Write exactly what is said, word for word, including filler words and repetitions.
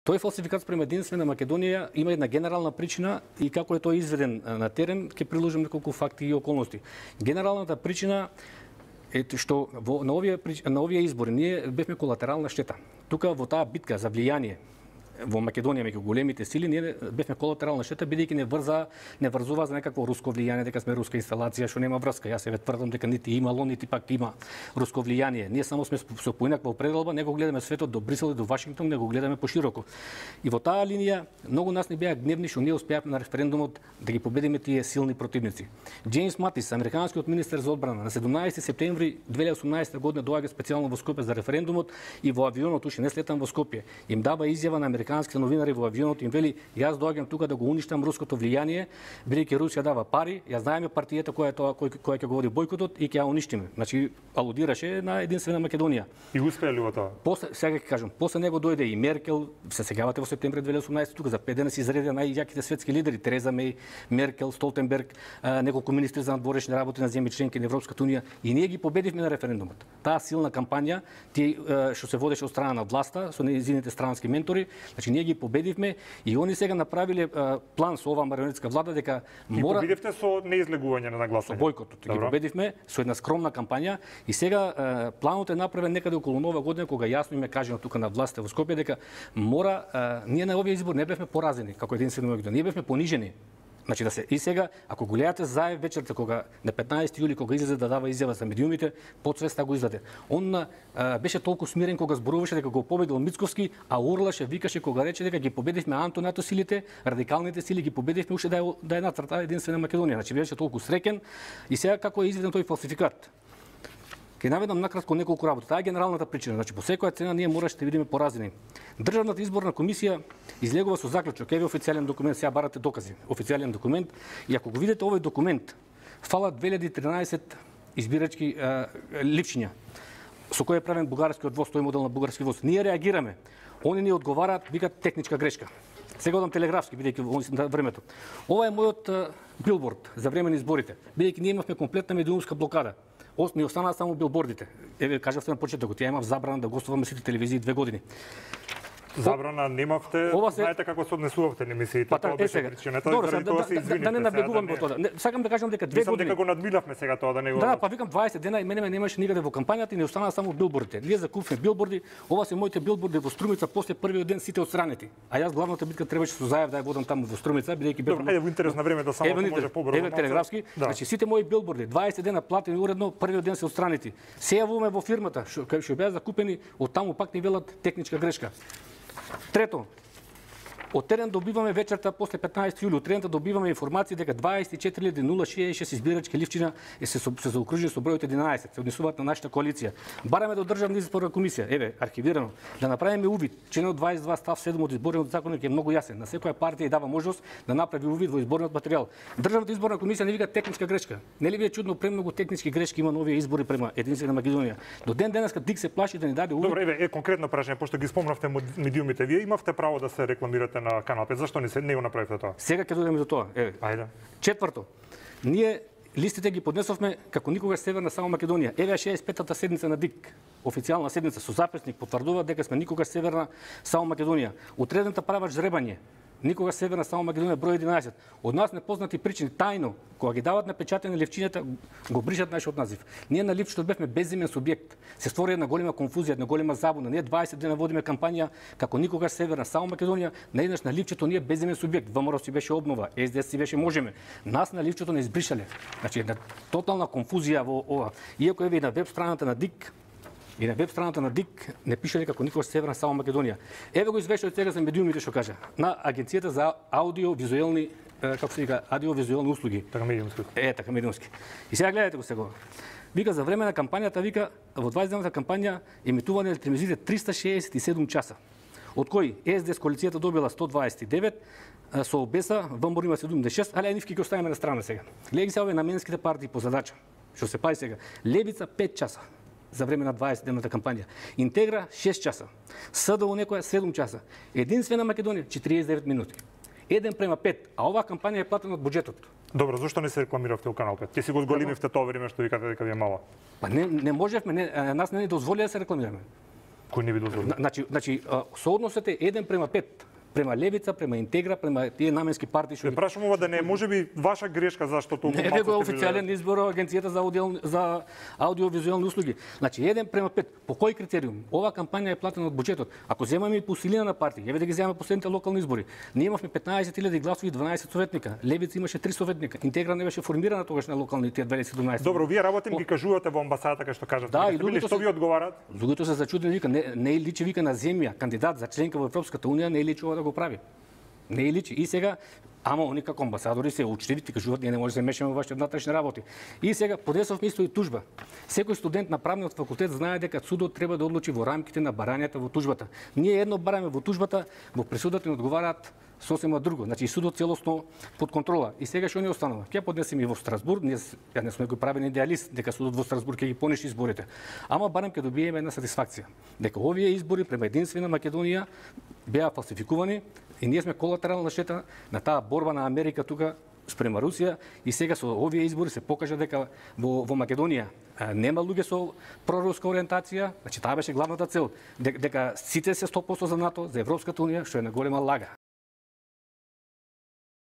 Тој фалсификат спрема единствена Македонија има една генерална причина и како е тој изведен на терен, ќе приложам неколку факти и околности. Генералната причина е што во, на овие на овие избори ние бевме колатерална штета. Тука во таа битка за влијание во Македонија меѓу големите сили ние бевме колатерална штета бидејќи не врза не врзува за некакво руско влијание, дека сме руска инсталација што нема врска. Јас се тврдам дека нити имало, нити пак има руско влијание. Ние само сме со поинаква определба, не го гледаме светот до Брисел и до Вашингтон, не го гледаме пошироко. И во таа линија многу нас не беа гневни што ние успеавме на референдумот да ги победиме тие силни противници. Джеймс Матис, американскиот министер за одбрана, на седумнаесети септември две илјади и осумнаесета година доаѓа специјално во Скопје за референдумот и во авионот уште не слетам во Скопје. Им дава изјава на американските новинари во авионот, им вели: јас доаѓам тука да го уништам руското влијание, бидејќи Русија дава пари, ја знаеме партијата која е тоа кој која ќе го води бойкотот и ќе ја уништиме. Значи алудираше на единствена Македонија. И успеа ли во тоа? После сега ќе кажам, после него дојде и Меркел, се сеќавате во септември две илјади и осумнаесета тука за пет дена се изредија најјаките светски лидери: Тереза Меј, Меркел, Столтенберг, неколку министри за надворешни работи на земји членки на Европската унија, и ние ги победивме на референдумот. Таа силна кампања, тие што се водеше од страна на власта со нејзините странски ментори, значи ние ги победивме и они сега направиле план со оваа марионетска влада дека мора. И победивте со неизлегување на гласање. Со бойкотот ги победивме со една скромна кампања и сега планот е направен некаде околу нова година, кога јасно им е кажано тука на властта во Скопје дека мора, ние на овие избори не бевме поразени како единствено Македонија, ние бевме понижени. Значи да се и сега, ако го гледате Заев вечерта кога на петнаесети јули кога излезе да дава изјава за медиумите, подсвеста го издаде. Он а, беше толку смирен кога зборуваше дека го победил Мицковски, а урлаше, викаше кога рече дека ги победивме антонато силите, радикалните сили ги победивме уште да е да е нацрта единствена Македонија. Значи беше толку среќен и сега како е изведен тој фалсификат. Ке наведам накратко неколку работи. Таа е генералната причина. Значи по секоја цена ние мораше да видиме поразени. Државната изборна комисија излегува со заклучок, еве официјален документ, сега барате докази. Официјален документ, и ако го видите овој документ, фалат две илјади и тринаесет избирачки а, ливчиња со кој е правен бугарскиот воз, тој модел на бугарски воз. Ние реагираме. Они ни одговараат, викаат техничка грешка. Сега одам телеграфски, бидејќи во времето. Ова е мојот а, билборд за време на изборите, бидејќи ние имавме комплетна медиумска блокада. Ни останаа само билбордите. Еве кажавте на почетокот, ја имав забрана да гостувам на сите телевизии две години. Забрана немавте, се... знаете како се однесувавте на емисиите, па, тоа беше причината, заради тоа се извините. Да не набегувам во тоа. Сакам да кажам дека две години. Дека го надмилавме сега тоа да не го. Да, па викам дваесет дена и мене ме немаше никаде во кампањата и не останаа само билбордите. Ние закупивме билборди, ова се моите билборди во Струмица после првиот ден сите отстранети. А јас главната битка требаше со Заев да ја водам таму во Струмица, бидејќи бев. Добро, ајде во интерес на време да само ако може побрзо. Еве телеграфски, значи сите мои билборди дваесет дена платени уредно, првиот ден се отстранети. Се јавуваме во фирмата, што што беа закупени, од таму пак ни велат техничка грешка. Трето, од терен добиваме вечерта после петнаесети јули, од терен добиваме информации дека дваесет и четири илјади нула шеесет и шест избирачки ливчина е се, се заокружени со бројот единаесет, се однесуваат на нашата коалиција. Бараме до Државна изборна комисија, еве, архивирано, да направиме увид. Членот дваесет и два став седум од изборниот законник е многу јасен. На секоја партија дава можност да направи увид во изборниот материјал. Државната изборна комисија не вика техничка грешка. Нели ви е чудно премногу технички грешки има на овие избори према единствена Македонија? До ден денеска ДИК се плаши да ни даде увид. Добро, еве, е конкретно прашање, пошто ги спомнавте медиумите, вие имавте право да се рекламирате на Канал пет. Зашто не се не го направивте тоа? Сега ќе дојдеме до тоа. Еве. Ајде. Четврто. Ние листите ги поднесовме како никогаш Северна само Македонија. Еве шеесет и петата седница на ДИК. Официјална седница со записник потврдува дека сме никогаш Северна само Македонија. Утредната правач жребање. Никога Северна само Македонија број единаесет. Од нас непознати причини тајно кога ги дават на печатење ливчињата го бришат нашиот назив. Ние на ливчето бевме безимен субјект. Се створи една голема конфузија, една голема забуна. Ние дваесет дена водиме кампања како никогаш Северна само Македонија, наеднаш на ливчето ние безимен субјект. ВМРО си беше обнова, СДС си беше можеме. Нас на ливчето не избришале. Значи една тотална конфузија во ова. Иако еве и на веб страната на ДИК и на веб страната на ДИК не пишале како никогаш Северна само Македонија. Еве го извештајот сега за медиумите што кажа. На Агенцијата за аудио-визуелни, како се вика, аудио-визуелни услуги. Така медиумски. Е, така медиумски. И сега гледате го сега. Вика за време на кампањата, вика во дваесетдневната кампања емитувани на телевизиите триста шеесет и седум часа. Од кои СДС коалицијата добила сто дваесет и девет, со ОБС ВМР има седумдесет и шест, але нивки ги оставиме на страна сега. Гледајќи се овие наменските партии по задача. Што се пази сега? Левица пет часа за време на дваесетдневната кампања. Интегра шест часа. СДО некоја седум часа. Единствена Македонија четириесет и девет минути. еден према пет, а оваа кампања е платена од буџетот. Добро, зошто не се рекламиравте во Канал пет? Ќе си го зголемивте тоа време што викате дека ви е мало. Па не не можевме, не, нас не ни дозволи да се рекламираме. Кој не ви дозволи? Значи, значи соодносот е еден према пет. Према Левица, према Интегра, према тие наменски партии што... Ве прашам ова да не може би ваша грешка зашто толку малку... Не, него е официјален избор Агенцијата за аудио за аудиовизуелни услуги. Значи еден према пет. По кој критериум? Ова кампања е платена од буџетот. Ако земаме и по силина на партии, еве да ги земаме последните локални избори. Ние имавме петнаесет илјади гласови и дванаесет советника. Левица имаше три советника. Интегра не беше формирана тогаш на локалните две илјади и седумнаесет. Добро, вие работите ги кажувате во амбасадата кај што кажате. Да, и луѓето што ви одговараат? Луѓето се зачудени, вика не, не личи вика на земја, кандидат за членка во Европската унија, не личи ова да го прави. Не е личи. И сега, ама они како амбасадори се учливи, ти кажуваат, ние не може да се мешаме во вашите внатрешни работи. И сега подесовме исто и тужба. Секој студент на правниот факултет знае дека судот треба да одлучи во рамките на барањата во тужбата. Ние едно бараме во тужбата, во пресудата ни одговараат сосема друго. Значи судот целосно под контрола. И сега што ни останува? Ќе поднесеме и во Страсбург, ние ја не сме го правени идеалист дека судот во Страсбург ќе ги пониши изборите. Ама барем ќе добиеме една сатисфакција дека овие избори према единствена Македонија беа фалсификувани и ние сме колатерална штета на таа борба на Америка тука спрема Русија и сега со овие избори се покажа дека во, во Македонија нема луѓе со проруска ориентација, значи таа беше главната цел, дека сите се сто проценти за НАТО, за Европската унија, што е на голема лага.